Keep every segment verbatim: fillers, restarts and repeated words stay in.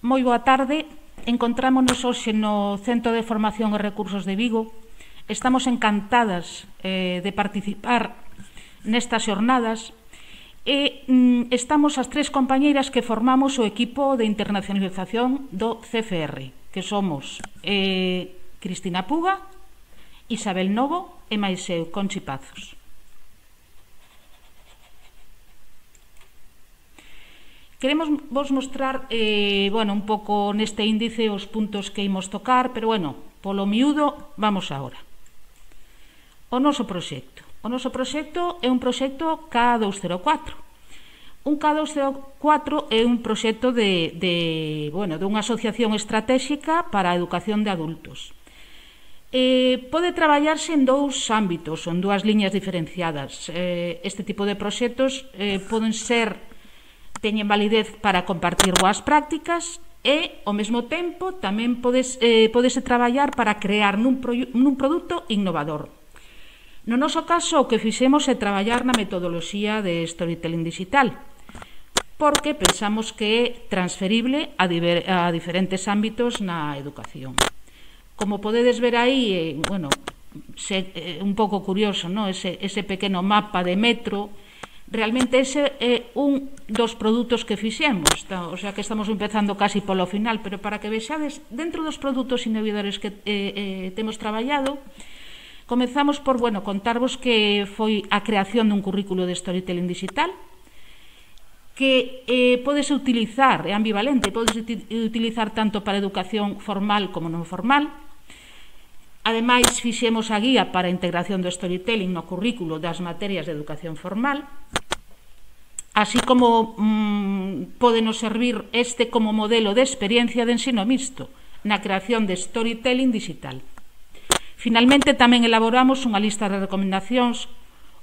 Moi boa tarde. Encontrámonos hoxe no Centro de Formación e Recursos de Vigo. Estamos encantadas eh, de participar nestas xornadas e mm, estamos as tres compañeiras que formamos o equipo de internacionalización do C F R, que somos eh, Cristina Puga, Isabel Novo e máis eu, Conchi Pazos. Queremos vos mostrar eh, bueno, un pouco neste índice os puntos que imos tocar, pero, bueno, polo miúdo, vamos agora. O noso proxecto. O noso proxecto é un proxecto K dous cero catro. Un K dous cero catro é un proxecto de, de, bueno, dunha asociación estratégica para a educación de adultos. Eh, pode traballarse en dous ámbitos, en dúas liñas diferenciadas. Eh, este tipo de proxectos eh, poden ser, teñen validez para compartir boas prácticas e, ao mesmo tempo, tamén podes, eh, podese traballar para crear nun, pro, nun produto innovador. No noso caso, o que fixemos é traballar na metodoloxía de storytelling digital, porque pensamos que é transferible a, diver, a diferentes ámbitos na educación. Como podedes ver aí, eh, bueno, se, eh, un pouco curioso, ¿no? ese, ese pequeno mapa de metro, realmente ese é un dos produtos que fixemos, o sea que estamos empezando casi polo final, pero para que vexades, dentro dos produtos innovadores que eh, eh, temos traballado, comezamos por, bueno, contarvos que foi a creación dun currículo de storytelling digital, que eh, podes utilizar, é ambivalente, podes utilizar tanto para educación formal como non formal. Ademais, fixemos a guía para a integración do storytelling no currículo das materias de educación formal, así como mmm, podenos servir este como modelo de experiencia de ensino mixto na creación de storytelling digital. Finalmente, tamén elaboramos unha lista de recomendacións,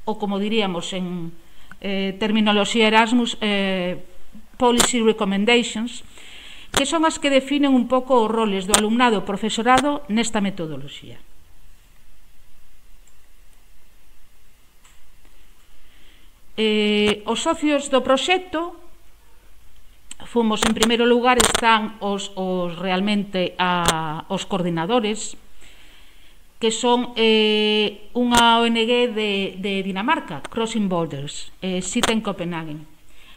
ou como diríamos en eh, terminoloxía Erasmus, eh, policy recommendations, que son as que definen un pouco os roles do alumnado e profesorado nesta metodoloxía. Eh, os socios do proxecto, fomos, en primeiro lugar, están os, os realmente a, os coordinadores, que son eh, unha O N G de, de Dinamarca, Crossing Borders, eh, sita en Copenhagen.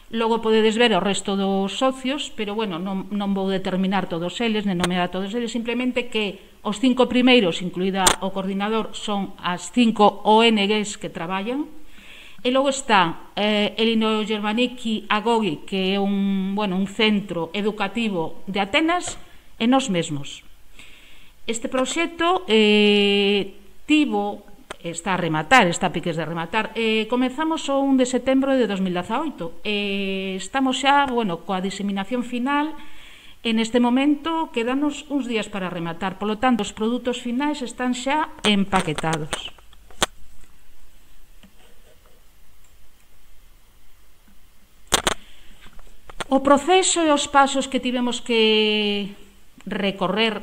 Logo podedes ver o resto dos socios, pero, bueno, non, non vou determinar todos eles, nem nomear a todos eles, simplemente que os cinco primeiros, incluída o coordinador, son as cinco O N Gs que traballan. E logo está eh, Elino Germanicki Agogi, que é un, bueno, un centro educativo de Atenas, e nós mesmos. Este proxecto eh, tivo, está a rematar, está a piques de rematar, eh, comezamos o un de setembro de dos mil dezaoito, eh, estamos xa, bueno, coa diseminación final, en este momento quedanos uns días para rematar, polo tanto, os produtos finais están xa empaquetados. O proceso e os pasos que tivemos que recorrer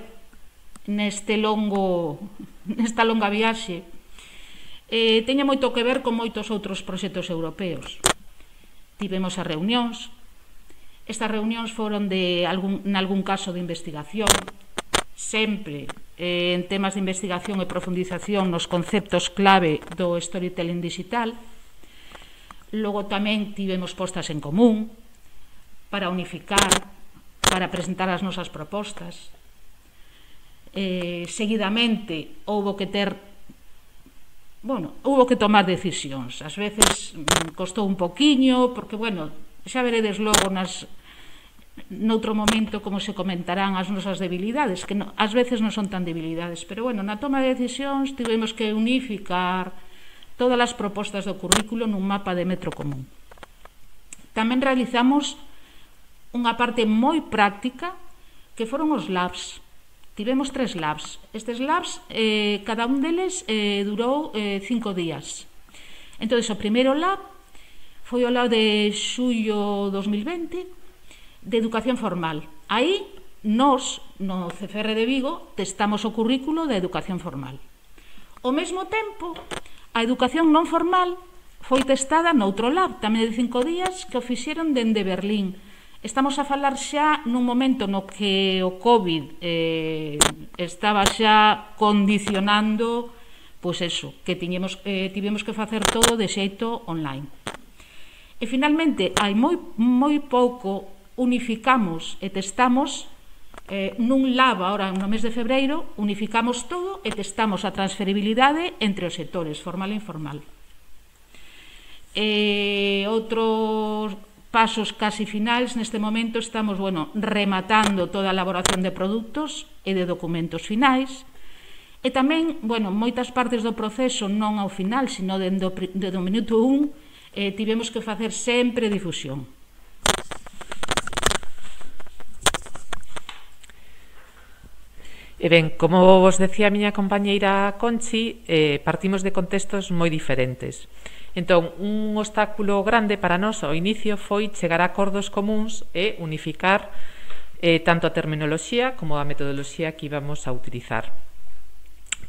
neste longo, nesta longa viaxe eh, teña moito que ver con moitos outros proxectos europeos. Tivemos as reunións, estas reunións foron de algún, en algún caso de investigación, sempre eh, en temas de investigación e profundización nos conceptos clave do storytelling digital. Logo tamén tivemos postas en común para unificar, para presentar as nosas propostas. Eh, seguidamente houbo que ter, bueno, houbo que tomar decisións. Ás veces mm, costou un poquiño, porque, bueno, xa veredes logo nas, noutro momento como se comentarán as nosas debilidades, que no, ás veces non son tan debilidades, pero, bueno, na toma de decisións tivemos que unificar todas as propostas do currículo nun mapa de metro común. Tamén realizamos unha parte moi práctica que foron os labs. Tivemos tres labs. Estes labs, eh, cada un deles eh, durou eh, cinco días. Entón, o primeiro lab foi o lab de xullo dos mil vinte de educación formal. Aí, nós, no C F R de Vigo, testamos o currículo de educación formal. Ao mesmo tempo, a educación non formal foi testada noutro lab, tamén de cinco días, que o fixeron dende Berlín. Estamos a falar xa nun momento no que o COVID eh, estaba xa condicionando, pois eso, que tiñemos, eh, tivemos que facer todo de xeito online. E finalmente, hai moi, moi pouco, unificamos e testamos eh, nun lab ahora no mes de febreiro, unificamos todo e testamos a transferibilidade entre os sectores formal e informal. E outros pasos casi finais, neste momento estamos, bueno, rematando toda a elaboración de produtos e de documentos finais, e tamén, bueno, moitas partes do proceso non ao final, sino dende o minuto un, eh, tivemos que facer sempre difusión. E ben, como vos decía a miña compañeira Conchi, eh, partimos de contextos moi diferentes. Entón, un obstáculo grande para nós ao inicio foi chegar a acordos comuns e unificar eh, tanto a terminoloxía como a metodoloxía que íbamos a utilizar.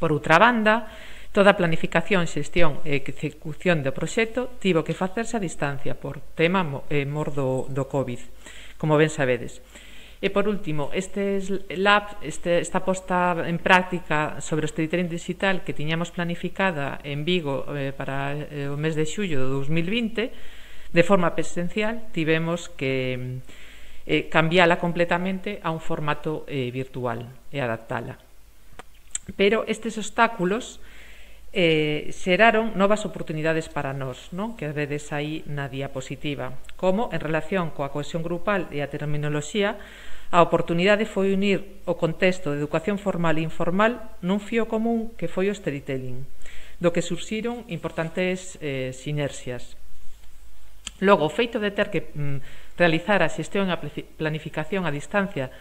Por outra banda, toda a planificación, xestión e execución do proxecto tivo que facerse a distancia por tema eh, mor do, do COVID, como ben sabedes. E por último, este lab, este, esta posta en práctica sobre o storytelling digital que tiñamos planificada en Vigo eh, para eh, o mes de xullo de dos mil vinte, de forma presencial, tivemos que eh, cambiala completamente a un formato eh, virtual e adaptala. Pero estes obstáculos eh, xeraron novas oportunidades para nós, non? Que vedes aí na diapositiva, como en relación coa cohesión grupal e a terminoloxía. A oportunidade foi unir o contexto de educación formal e informal nun fío común que foi o storytelling, do que surxiron importantes eh, sinerxias. Logo, o feito de ter que mm, realizar a xestión e a planificación a distancia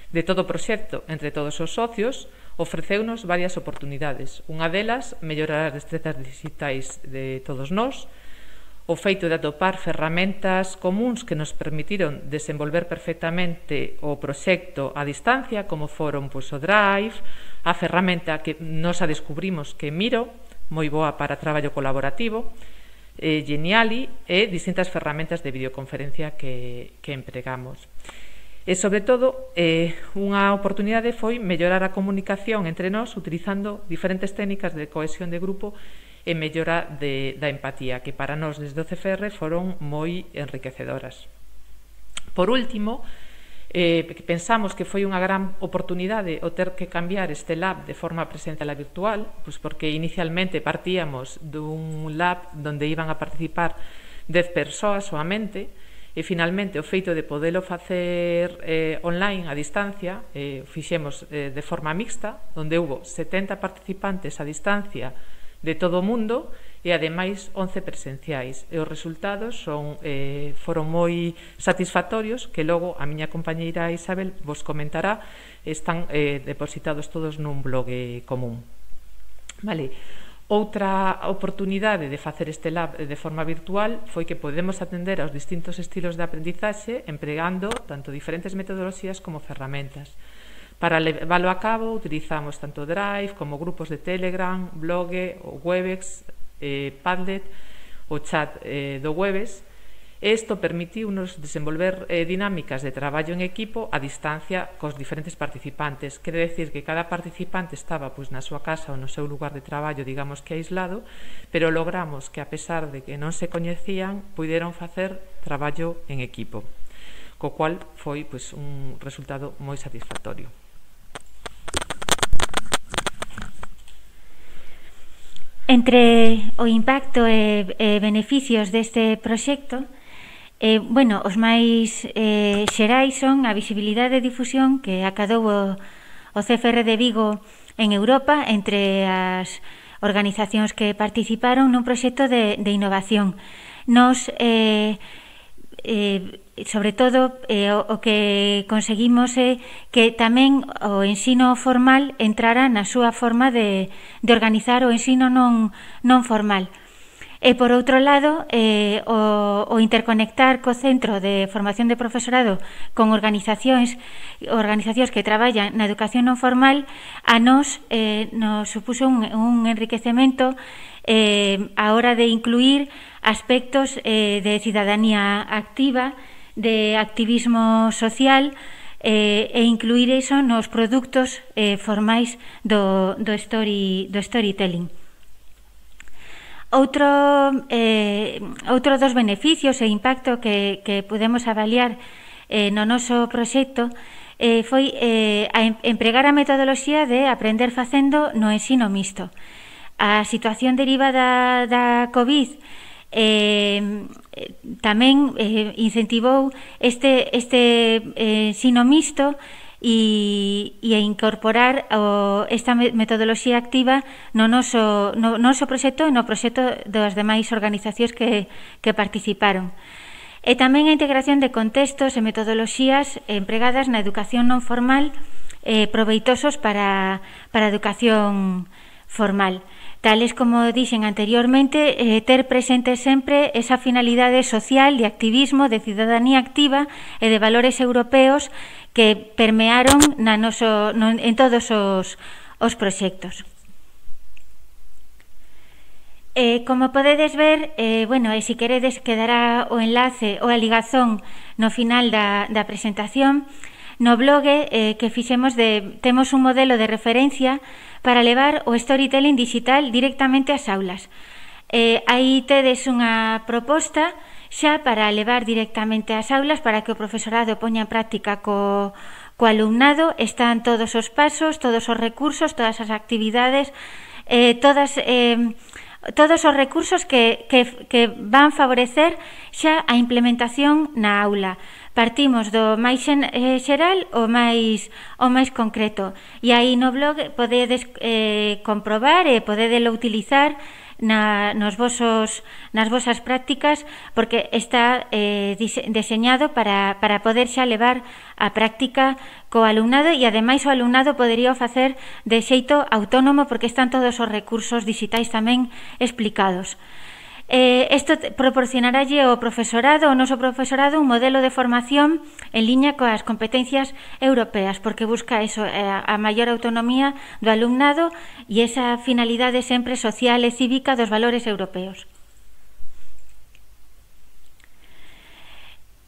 de todo o proxecto entre todos os socios ofreceunos varias oportunidades. Unha delas, mellorar as destrezas digitais de todos nós, o feito de atopar ferramentas comuns que nos permitiron desenvolver perfectamente o proxecto a distancia, como foron pois, o Drive, a ferramenta que nos a descubrimos que Miro, moi boa para traballo colaborativo, eh, Geniali e distintas ferramentas de videoconferencia que, que empregamos. E, sobre todo, eh, unha oportunidade foi mellorar a comunicación entre nós utilizando diferentes técnicas de cohesión de grupo e mellora de, da empatía, que para nós desde o C F R foron moi enriquecedoras. Por último, eh, pensamos que foi unha gran oportunidade o ter que cambiar este lab de forma presencial a virtual, pois porque inicialmente partíamos dun lab onde iban a participar dez persoas soamente, e finalmente o feito de podelo facer eh, online a distancia, eh, fixemos eh, de forma mixta, onde hubo setenta participantes a distancia de todo o mundo e ademais once presenciais, e os resultados son, eh, foron moi satisfactorios, que logo a miña compañeira Isabel vos comentará, están eh, depositados todos nun blog común. Vale. Outra oportunidade de facer este lab de forma virtual foi que podemos atender aos distintos estilos de aprendizaxe empregando tanto diferentes metodoloxías como ferramentas. Para leválo a cabo utilizamos tanto Drive como grupos de Telegram, Blog, o Webex, eh, Padlet, o chat eh, do Webex. Isto permitiu-nos desenvolver eh, dinámicas de traballo en equipo a distancia cos diferentes participantes. Quere decir que cada participante estaba pois, na súa casa ou no seu lugar de traballo, digamos que aislado, pero logramos que, a pesar de que non se coñecían, puderon facer traballo en equipo, co cual foi pois, un resultado moi satisfactorio. Entre o impacto e, e beneficios deste proxecto, eh, bueno, os máis eh, xerais son a visibilidade e difusión que acadou o, o C F R de Vigo en Europa entre as organizacións que participaron nun proxecto de, de innovación. Nos, eh, eh, sobre todo, eh, o, o que conseguimos é que tamén o ensino formal entrara na súa forma de, de organizar o ensino non, non formal. E, por outro lado, eh, o, o interconectar co Centro de Formación de Profesorado con organizacións organizacións que traballan na educación non formal, a nós eh, nos supuso un, un enriquecemento eh, a hora de incluir aspectos eh, de cidadanía activa de activismo social eh, e incluir iso nos produtos eh, formais do, do, story, do storytelling. Outro, eh, outro dos beneficios e impacto que, que podemos avaliar eh, no noso proxecto eh, foi eh, a empregar a metodoloxía de aprender facendo no ensino mixto. A situación derivada da COVID eh, tamén eh, incentivou este, este eh, ensino mixto e, e incorporar o, esta metodoloxía activa no noso, no noso proxecto e no proxecto das demais organizacións que, que participaron. E tamén a integración de contextos e metodoloxías empregadas na educación non formal eh, proveitosos para, para a educación formal. Tales como dixen anteriormente, eh, ter presente sempre esa finalidade social de activismo, de cidadanía activa e de valores europeos que permearon na noso, no, en todos os, os proxectos. Eh, como podedes ver, eh, bueno, e se queredes quedará o enlace ou a ligazón no final da, da presentación. No blog eh, que fixemos de, temos un modelo de referencia para levar o storytelling digital directamente ás aulas. Eh, aí tedes unha proposta xa para levar directamente ás aulas para que o profesorado poña en práctica co, co alumnado. Están todos os pasos, todos os recursos, todas as actividades, eh, todas... Eh, todos os recursos que, que, que van favorecer xa a implementación na aula. Partimos do máis xeral ao máis, ao máis concreto. E aí no blog podedes eh, comprobar e podedelo utilizar na, nos vosos, nas vosas prácticas, porque está eh, deseñado para, para poder xa levar a práctica co alumnado, e ademais o alumnado podería facer de xeito autónomo porque están todos os recursos digitais tamén explicados. Eh, isto proporcionaralle ao profesorado, ao noso profesorado, un modelo de formación en liña coas competencias europeas, porque busca eso, a maior autonomía do alumnado e esa finalidade sempre social e cívica dos valores europeos.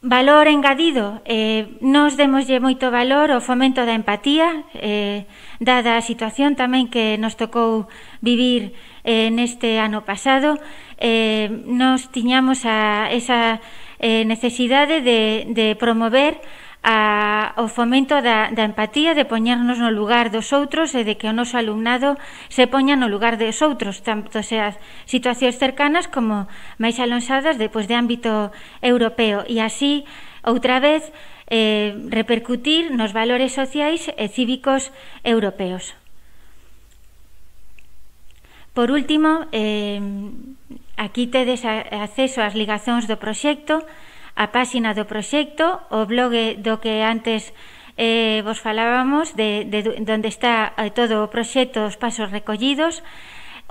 Valor engadido, eh, nos demoslle moito valor ao fomento da empatía, eh, dada a situación tamén que nos tocou vivir eh, neste ano pasado. Eh, nos tiñamos a esa eh, necesidade de, de promover a, o fomento da, da empatía, de poñernos no lugar dos outros e de que o noso alumnado se poña no lugar dos outros, tanto sea situacións cercanas como máis alonsadas depois de ámbito europeo, e así, outra vez, eh, repercutir nos valores sociais e cívicos europeos. Por último, eh, aquí tedes acceso ás ligazóns do proxecto, a páxina do proxecto, o blog do que antes eh, vos falábamos, de, de, donde está eh, todo o proxecto, os pasos recollidos,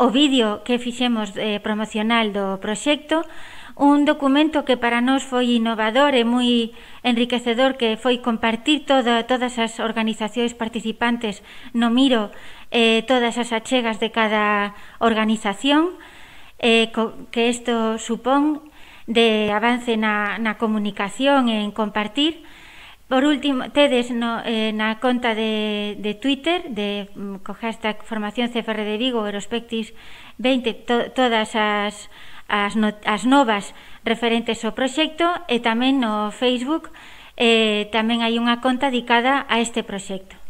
o vídeo que fixemos eh, promocional do proxecto, un documento que para nós foi innovador e moi enriquecedor, que foi compartir toda, todas as organizacións participantes no Miro, eh, todas as achegas de cada organización, eh, co, que isto supón de avance na, na comunicación e en compartir. Por último, tedes no, eh, na conta de, de Twitter de, co hashtag Formación C F R de Vigo, Eurospectis vinte, to, todas as, as, no, as novas referentes ao proxecto, e tamén no Facebook eh, tamén hai unha conta dedicada a este proxecto.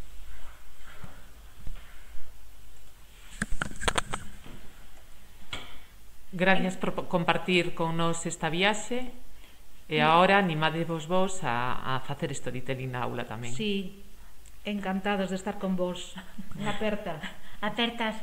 Gracias por compartir con nos esta viaxe, e agora animadevos vos a, a facer storytelling na aula tamén. Sí, encantados de estar con vos. Aperta. Apertas.